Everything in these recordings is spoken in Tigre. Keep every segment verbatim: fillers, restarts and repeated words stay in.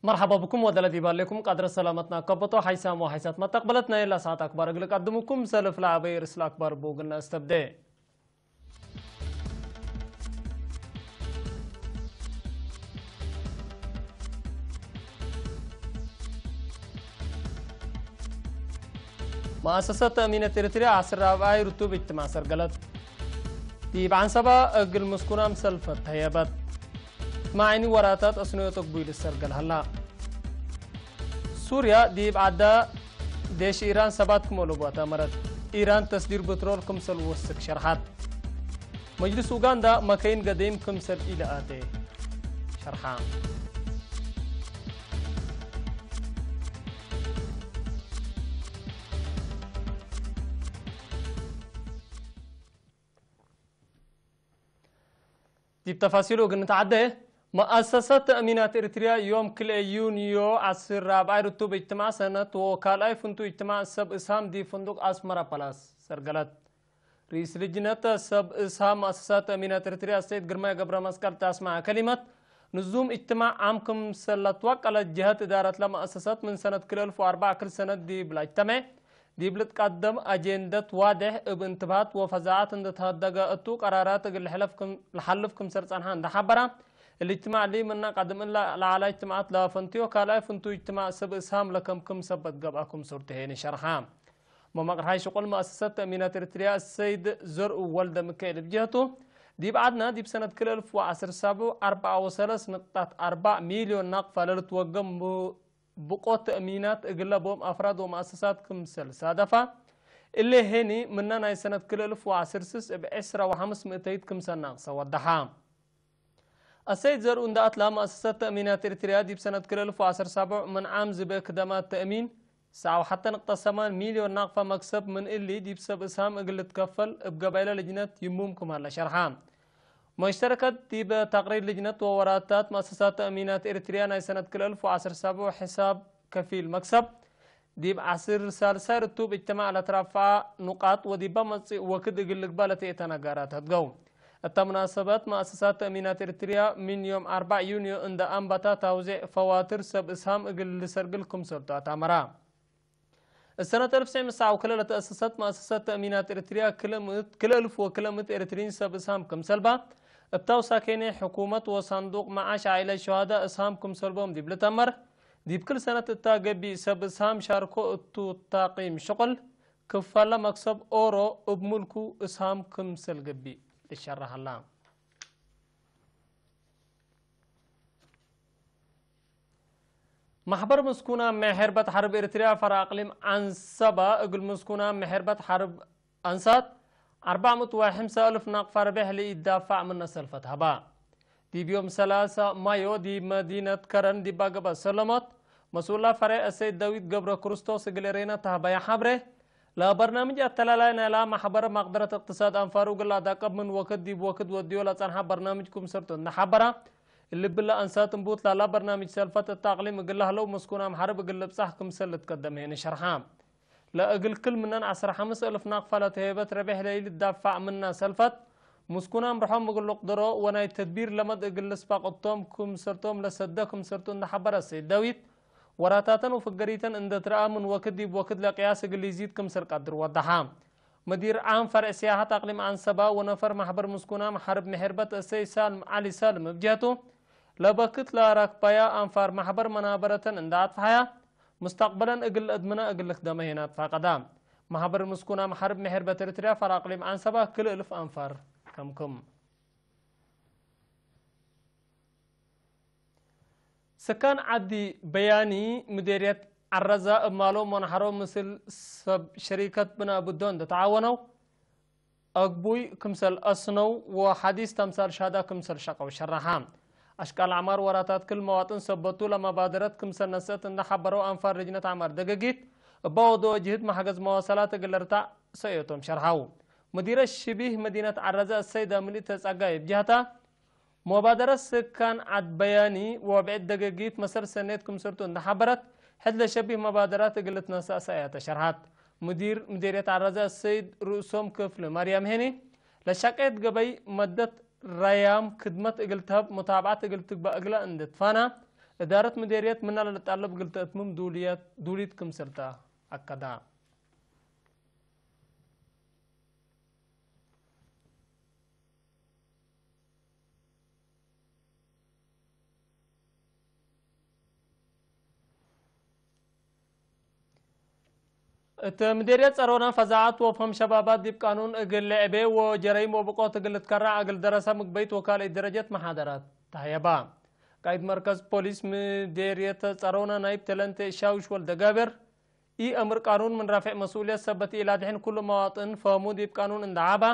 መርሐባ ብኩም ወደለ ዲብ ሀሌኩም፣ ቀድረ ሰላመትና ከበቶ፣ ሐይሳም ወሐይሳት መተቅበለት ናይ ለሰዓት አክባር እግል ቀድምኩም፣ ሰልፍ ለዐበይ ርእስ ለአክባር እቡ እግል ነአስተብዴ። መአሰሰት ተእሚነት ኤሪትርያ ዐስር ራብዓይ ርቱብ እጅትማዕ ሰርገለት። ዲብ ዐንሰባ እግል ምስኩናም ሰልፈት ተህየበት። ማዕኒ ወራታት አስነዮት እግቡይ ልሰርገል ሀላ። ሱርያ ዲብ ዐዳ ዴሽ ኢራን ሰባት ክም አለቡ አታመረት። ኢራን ተስዲር ብትሮል ክምሰል ወስክ ሸርሐት። መጅልስ ኡጋንዳ መከይን ገደይም ክምሰል ኢለአቴ ሸርሐ። ዲብ ተፋሲሉ እግል ንትዓዴ፣ መአሰሰት ተእሚናት ኤሪትርያ ዮም ክልኤ ዩንዮ ዐስር ራብዓይ ርቱብ እጅትማዕ ሰነት ወካልኣይ ፍንቱይ እጅትማዕ ሰብ እስሃም ዲብ ፍንዱቅ አስመራ ፓላስ ሰርገለት። ርኢስ ልጅነት ሰብ እስሃም መአሰሳት ተእሚናት ኤሪትርያ አሰይድ ግርማይ ገብረመስቀል ተ አስመዐ ከሊመት፣ ንዙም እጅትማዕ ዓም ክምሰል ለትወቀለት ጀሀት እዳረት ለመአሰሰት ምን ሰነት ክልኤ እልፍ ወአርበዕ ክል ሰነት ዲብ ለእጅተመዕ፣ ዲብ ልትቀደም አጄንደት ዋዴሕ እብ እንትብሃት ወፈዛዐት እንዴ ተሀደገ እቱ ቀራራት እግል ልሕለፍ ክም፣ ለሐልፍ ክምሰል ጸንሐ እንዴ ሐበራ፣ እሊ እጅትማዕ እሊ ምነ ቀድም እለ ለዐለ እጅትማዓት ለፈንትዮ ካልኣይ ፍንቱይ እጅትማዕ ሰብ እስሃም ለከምክም ሰበት ገብአ ክምሰል ቱ ሄኒ ሸርሐ። መመቅርሓይ ሽቁል መአሰሰት ተእሚናት ኤሪትርያ አሰይድ ዘርኡ ወልደ ምካኤል እብ ጀህቱ፣ ዲብ ዐድነ ዲብ ሰነት ክልኤ እልፍ ወዐስር ሳብዑ አርበዓ ወሰለስ ንቅጣት አርበዕ ሚልዮን ናቅፋ ለልትወገም ቡ-፣ ብቆት ተእሚናት እግለ ቦም አፍራድ ወመአሰሳት ክምሰል ሳደፋ፣ እሊ ሄኒ ምነ ናይ ሰነት ክልኤ እልፍ ወዐስር ስስ እብ ዕስራ ወሐምስ ምእተይት ክምሰል ናቅሰ ወደሐ። አሰይድ ዘርኡ እንደ አትላ፣ መአሰሰት ተእሚናት ኤሪትርያ ዲብ ሰነት ክልኤ እልፍ ወዐስር ሳብዕ ምን ዓም ዝበ ክደማት ተእሚን ሰዓ ወሐተ ንቅጠ ሰማን ሚልዮን ናቅፋ መክሰብ ምን እሊ፣ ዲብ ሰብ እስሃም እግል ልትከፈል እብ ገበይለ ልጅነት ይሙም ክም ሀለ ሸርሐ። መሽተረከት ዲብ ተቅሪር ልጅነት ወወራታት መአሰሳት ተእሚናት ኤሪትርያ ናይ ሰነት ክልኤ እልፍ ወዐስር ሳብዕ ሕሳብ ከፊል መክሰብ፣ ዲብ ዐስር ሳልሳይ ርቱብ እጅትማዕ ለትረፈዐ ኑቃጥ ወዲበ መጽእ ወክድ እግል ልግበእ ለትእተ ነጋራት ሀድገው። እተ ሙናሰበት መአሰሳት ተእሚናት ኤሪትርያ ምን ዮም አርበዕ ዩንዮ እንደ አንበታ ታውዜዕ ፈዋትር ሰብ እስሃም እግል ልሰርግል ክምሰልቱ አታመራ። እሰነት አልፍ ትስዕ ምሰዓ ወክልኤ ለተአሰሰት መአሰሰት ተእሚናት ኤሪትርያ ክልኤ ምእት፣ ክልኤ እልፍ ወክልኤ ምእት ኤሪትርዪን ሰብ እስሃም ክምሰልባ እብ ታውሳኬኔ ሕኩመት ወሳንዱቅ መዓሽ ዓኢለት ሸሃዳ እስሃም ክምሰልቦም ዲብ ልተመር፣ ዲብ ክል ሰነት እታ ገቢእ ሰብ እስሃም ሻርኮ እቱ ታቂም ሽቁል፣ ክፋለ መክሰብ ኦሮ እብ ሙልኩ እስሃም ክምሰል ገቢእ ልሸረሕ ሀላ። መሕበር ምስኩና ምሕርበት ሐርብ ኤሪትርያ ፈረ አቅሊም ዐንሰባ፣ እግል ምስኩና ምሕርበት ሐርብ አንሳት፣ አርበዕ ምእት ወሐምሳ አልፍ ናቅፋ ርቤሕ ለኢዳፋዕ ምነ ሰልፈት ሀባ። ዲብ ዮም ሰላሳ ማዮ ዲብ መዲነት ከረን ዲባ ገብአ ሰለሞት፣ መስኡላ ፈሬዕ አሰይድ ዳዊት ገብረ ክርስቶስ እግል ኤሬና ተሀበየ ሐብሬ፣ ለበርናምጅ አተላላይ ናይላ መሕበር መቅደረት እቅትሳድ አንፋሩ እግል ለአዳቀብ ምን ወክድ ዲብ ወክድ ወድዮ ለጸንሐ በርናምጅ ክምሰልቱ እንደ ሐበራ፣ እሊ ብለ አንሳት እንቡት ላላ በርናምጅ ሰልፈት እተ አቅሊም እግል ለህለው መስኩናም ሐርብ እግል ልብጻሕ ክምሰል ልትቀደም ሄኒ ሸርሐ። ለእግል ክል ምነን ዐስር ሐምስ እልፍ ናቅፋ ለተሄበት ረቤሕ ለኢልትዳፋዕ ምና ሰልፈት፣ ምስኩን አምርሖም እግል ልቅድሮ ወናይ ተድቢር ለመድ እግል ልስባቅ እቶም ክምሰልቶም ለሰደ ክምሰልቱ እንደ ሐበረ ሰይድ ዳዊት፣ ወራታተን ወፍገሪተን እንደ ትረአ ምን ወክድ ዲብ ወክድ ለቅያስ እግል ኢዚድ ክምሰል ቀድር ወደሐ። መዲር ዓም ፈርዕ ሲያሐት አቅሊም ዐንሰባ ወነፈር መሕበር ምስኩናም ሐርብ ምሕርበት እሰይ ሳልም ዐሊ ሳልም እብ ጀህቱ፣ ለበክት ለአራክባያ አንፋር መሕበር መናበረተን እንደ አጥፍሐያ፣ ሙስተቅበለን እግል ለአድምና እግል ልክደመ ሄና ትፋቀዳ። መሕበር ምስኩናም ሐርብ ምሕርበት ኤሪትርያ ፈር አቅሊም ዐንሰባ ክልኤ እልፍ አንፋር ከምክም። ስካን ዐዲ በያኒ ምዴርየት ዐረዛ እብ ማሎም ወነሐሮ ምስል ሰብ ሸሪከት ብናእ ብዶ እንደ ተዓወነው፣ አግቡይ ክምሰል አስነው ወሐዲስ ተምሳል ሻዳ ክምሰል ሸቀው ሸረሐ። አሽቃል አዕማር ወራታት ክል መዋጥን ሰበቱ ለመባደረት ክምሰል ነሰአት እንደ ሐበረው አንፋር ልጅነት አዕማር ደገጊት፣ እበ ወደወ ጅህድ መሐገዝ መዋሰላት እግል ልርታዕ ሰእዮቶም ሸርሐው። ሙዲረ ሽቢህ መዲነት ዐረዘ አሰይድ አምሊት ተጸጋይ እብ ጀህታ፣ መባደረት ስካን ዐድ በያኒ ወብዕድ ደገጊት መሰል ሰኔት ክምሰልቱ እንደ ሐበረት፣ ሕድ ለሸቢህ መባደራት እግል ልትነሰእ ሰእያተ ሸርሐት። ሙዲር ምዴርየት ዐራዘ አሰይድ ርእሶም ክፍል መርያም ሄኒ፣ ለሻቀየት ገበይ መደት ረያም ክድመት እግል ተህብ ሙታብዐት እግል ትግበእ እግለ እንዴ ትፋና፣ እዳረት ምዴርየት ምነ ለልጣለብ እግል ተእትምም ዱልየት፣ ዱሊት ክምሰልተ አከዳ። እት ምዴርየት ጸሮና ፈዛዐት ወፍሀም ሸባባት ዲብ ቃኑን እግል ልዕቤ ወጀረይም ወብቆት እግል ልትከረዕ እግል ደረሰ ምግበይት ወካልእት ደረጀት መሓደራት ተሀየባ። ቃይድ መርከዝ ፖሊስ ምዴርየት ጸሮና ናይብ ተለንቴ ሻውሽ ወልደጋብር፣ ኢ አምር ቃኑን ምን ራፌዕ መስኡልየት ሰበት ኢላድሕን ኩሉ መዋጥን ፈህሙ ዲብ ቃኑን እንደ ዐባ፣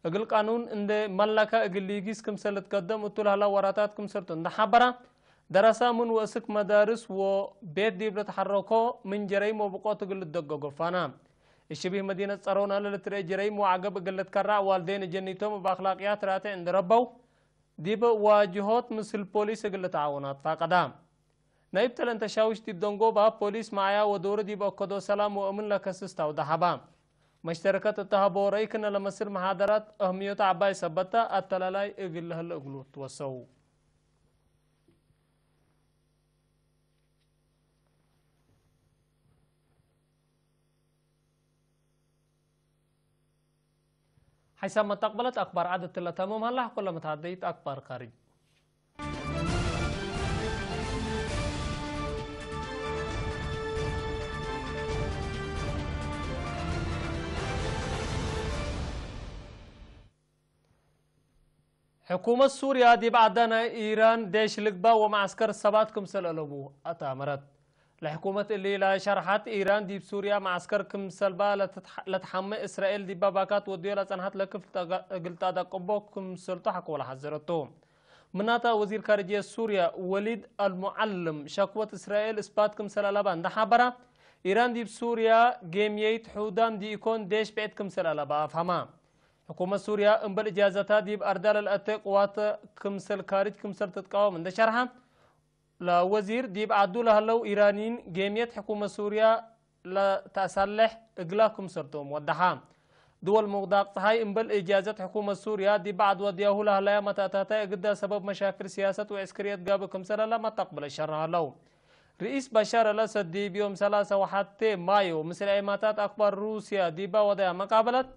እግል ቃኑን እንደ መለከ እግል ሊጊስ ክምሰል ልትከደም እቱ ለህላ ወራታት ክምሰልቱ እንደ ሐበራ፣ ደረሰ ምን ወእስክ መዳርስ ወቤት ዲብ ልትሐረኮ ምን ጀረይም ወብቆት እግል ልትደገጎ ፋና። እሽቢህ መዲነት ጸሮና ለልትርኤ ጀረይም ወዐገብ እግል ልትከራዕ ዋልዴን ጀኒቶም እብ አክላቅያት ራቴዕ እንደ ረበው፣ ዲብ ዋጅሆት ምስል ፖሊስ እግል ልትዓወኑ አትፋቀዳ። ናይብ ተለንተ ሻውሽ ዲብ ደንጎባ ፖሊስ መዓያ ወዶሩ ዲብ አከዶ ሰላም ወእምን ለከስስ ታውደ ሀባ። መሽተረከት እተ ሀቦ ረይ ክነ ለመስል መሓደራት አህምዮት ዐባይ ሰበታ አተላላይ እግል ለህለ እግሉ ትወሰው። ሐይሳም መተቅበለት አክባር ዐድ እትለ ተምም ሀላ፣ ሐቆ ለመትሃደይት አክባር ካርጅ። ሕኩመት ሱርያ ዲብ ዐዳ ናይ ኢራን ዴሽ ልግባእ ወመዐስከር ሰባት ክምሰል አለቡ አትአመረት። ለሕኩመት እሊ ለሸርሐት፣ ኢራን ዲብ ሱርያ መዐስከር ክምሰልባ ለትትሐ-፣ ለትሐመ እስራኤል ዲበ ባካት ወድዮ ለጸንሐት ለክፍል ጠጋ-፣ እግል ተአደቅቦ ክምሰልቱ ሐቆ ለሐዘረቱ። ምናተ ወዚር ካርጅየት ሱርያ ወሊድ አልሙዐልም ሸክወት እስራኤል እስባት ክምሰል አለባ እንደ ሐበራ፣ ኢራን ዲብ ሱርያ ጌምየይት ሑዳም ዲኢኮን ዴሽ ብዕድ ክምሰል አለባ አፍሀማ። ሕኩመት ሱርያ እምበል እጃዘታ ዲብ አርዳ ለልአቴ ቅዋት ክምሰል ካርጅ ክምሰል ትትቃወም እንደ ሸርሐ፣ ለወዚር ዲብ ዐዱ ለህለው ኢራንይን ጌምየት ሕኩመት ሱርያ ለተአሳልሕ እግላ ክምሰልቶም ወደሐ። ድወል ሙቅዳቅ ጸሓይ እምበል እጃዘት ሕኩመት ሱርያ ዲብ ዐድ ወድያሁ ለህለያ መተእታታይ እግዳ ሰበብ መሻክል ስያሰት ወዕስክርየት ጋብእ ክምሰለ ለመተቅብለ ሸርሐ ሀለው። ርኢስ በሻር አልአሰድ ዲብ ዮም ሰላሰ ወሐቴ ማዮ ምስል ዔማታት አክባር ሩስያ ዲባ ወደያ መቃበለት፣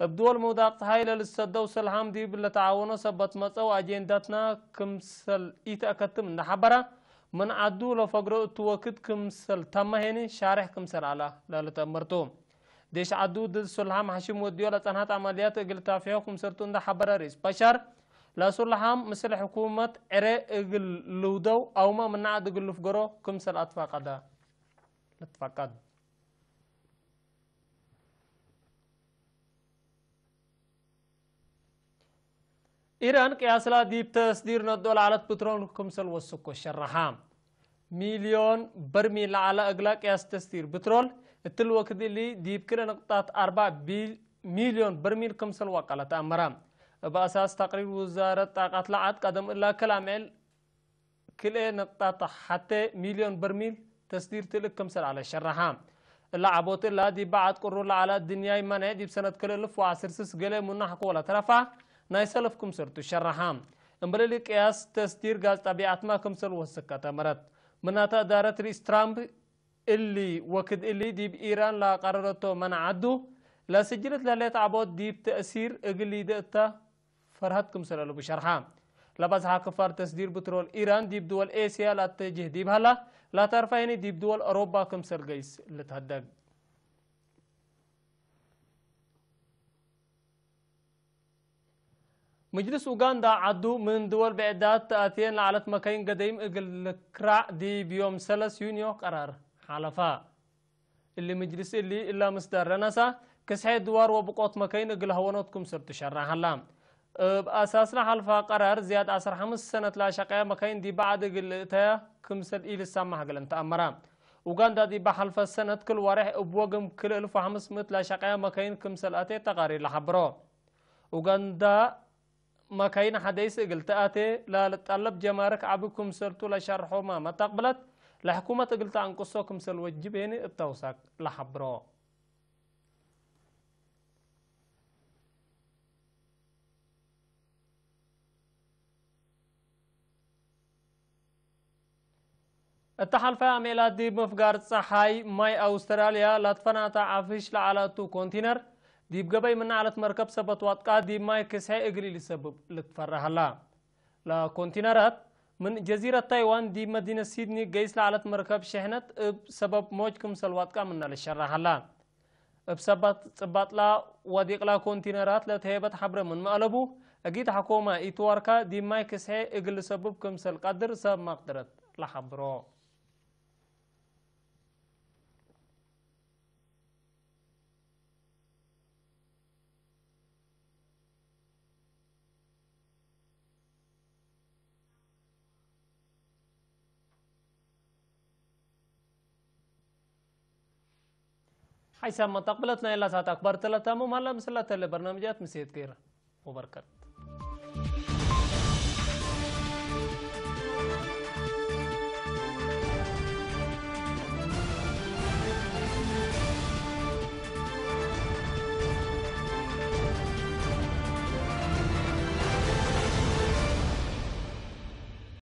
እብ ድወል ምውዳቅ ጸሓይ ለልትሰደው ሰልሃም ዲብ ለተዓወኖ ሰበት መጸው አጄንዳትና ክምሰል ኢተአከትም እንደ ሐበረ፣ ምን ዐዱ ለፈግሮ እቱ ወክድ ክምሰል ተመ ሄኒ ሻሬሕ ክምሰል ዐለ ለልትአመርቱ። ዴሽ ዐዱ ድድ ሱልሃም ሐሽም ወድዮ ለጸንሐት ዐመልያት እግል ታፍሖ ክምሰልቱ እንደ ሐበረ ርኢስ በሻር፣ ለሱልሃም ምስል ሕኩመት ዕሬ እግል ልውደው አውመ ምነ ዐድ እግል ልፍገሮ ክምሰል አትፋቀደ። ልትፋቀድ። ኢራን ቅያስላ ዲብ ተስዲር ነድኦ ለዐለት ብትሮል ክምሰል ወስኮ ሸረሐ። ሚልዮን በርሚል ለዐለ እግላ ቅያስ ተስዲር ብትሮል፣ እትሊ ወክድ እሊ ዲብ ክልኤ ንቅጣት አርበዕ ቢል-፣ ሚልዮን በርሚል ክምሰል ወቀለ ተአመረ። እብ አሳስ ተቅሪር ውዛረት ጣቀት ለዐድ ቀደም እላ ክል አምዕል ክልኤ ንቅጣት ሐቴ ሚልዮን በርሚል ተስዲር ትልክ ክምሰል ዐለ ሸረሐ። እላ ዐቦት እላ ዲብ በዐድ ቅሩር ለዐለ ድንያይ መኔዕ ዲብ ሰነት ክልኤ እልፍ ወዐስር ስስ ገሌ ሙናሕ ክወ ለተረፋ ናይ ሰልፍ ክምሰልቱ ሸረሐ። እምበል እሊ ቅያስ ተስዲር ጋዝ ጠቢዐትመ ክምሰል ወስከ ተመረት። ምናተ እዳረት ርኢስ ትራምፕ እሊ ወክድ እሊ ዲብ ኢራን ለቀረረቶ መነ ዐዱ ለስጅለት ለህሌት ዐቦት ዲብ ተእሲር እግል ሊደ እተ ፈርሀት ክምሰል አለቡ ሸርሐ። ለበዝሐ ክፋል ተስዲር ብትሮል ኢራን ዲብ ድወል ኤስያ ለአተጅህ ዲብ ሀላ፣ ለተርፈ ህኒ ዲብ ድወል አውሮባ ክምሰል ገይስ ልትሀደግ። ምጅልስ ኡጋንዳ ዐዱ ምን ድወል ብዕዳት ተአትየን ለዐለት መከይን ገደይም እግል ልክራዕ ዲብ ዮም ሰለስ ዩንዮ ቀራር ሐለፈ። እሊ ምጅልስ እሊ እላ ምስዳር ለነሳ፣ ክስሐ ድዋር ወብቆት መከይን እግል ሀወኖት ክምሰል ትሸረሕ ሀላ። እብ አሳስለ ሐልፋ ቀራር፣ ዝያድ ዐስር ሐምስ ሰነት ለአሸቀየ መከይን ዲብ በዐድ እግል ልእተያ ክምሰል ኢልሳማሕ እግል እንተአመረ። ኡጋንዳ ዲብ ሐልፈ ሰነት ክል ወሬሕ እብ ወግም ክል እልፍ ወሐምስ ምእት ለአሸቀየ መከይን ክምሰል አቴ ተቃሪር ለሐብሮ። ኡጋንዳ መካይን ሐደይስ እግል ተአቴ ለልትጠለብ ጀማርክ ዐቢ ክምሰልቱ ለሸርሖ ማመ ተቅብለት፣ ለሕኩመት እግል ተአንቅሶ ክምሰል ወጅብ ሄኒ እብ ተውሳክ ለሐብሮ። እተ ሐልፈ አሜላት ዲብ ምፍጋር ጸሓይ ማይ አውስትራልያ ለትፈናተ ዐፍሽ ለዐለ እቱ ኮንቲነር፣ ዲብ ገበይ ምነ ዐለት መርከብ ሰበት ዋጥቃ ዲብ ማይ ክስሐ እግል ኢልሰብብ ልትፈራ ሀላ። ለኮንቲነራት ምን ጀዚረት ታይዋን ዲብ መዲነት ሲድኒ ገይስ ለዐለት መርከብ ሸሕነት እብ ሰበብ ሞጅ ክምሰል ዋጥቃ ምነ ልሸራ ሀላ። እብ ሰበት ጽባጥላ ወዲቅላ ኮንቲነራት ለተሄበት ሐብረ ምንመ አለቡ፣ እጊት ሐኮመ ኢትዋርካ ዲብ ማይ ክስሐ እግል ልሰብብ ክምሰል ቀድር ሰብ መቅደረት ለሐብሮ። ሐይሳም መተቅብለት ናይ ላሳት አክባር ተለታሙ ማላ ምስላ ተለ በርናምጃት ምሴት ገይረ ወበርከት።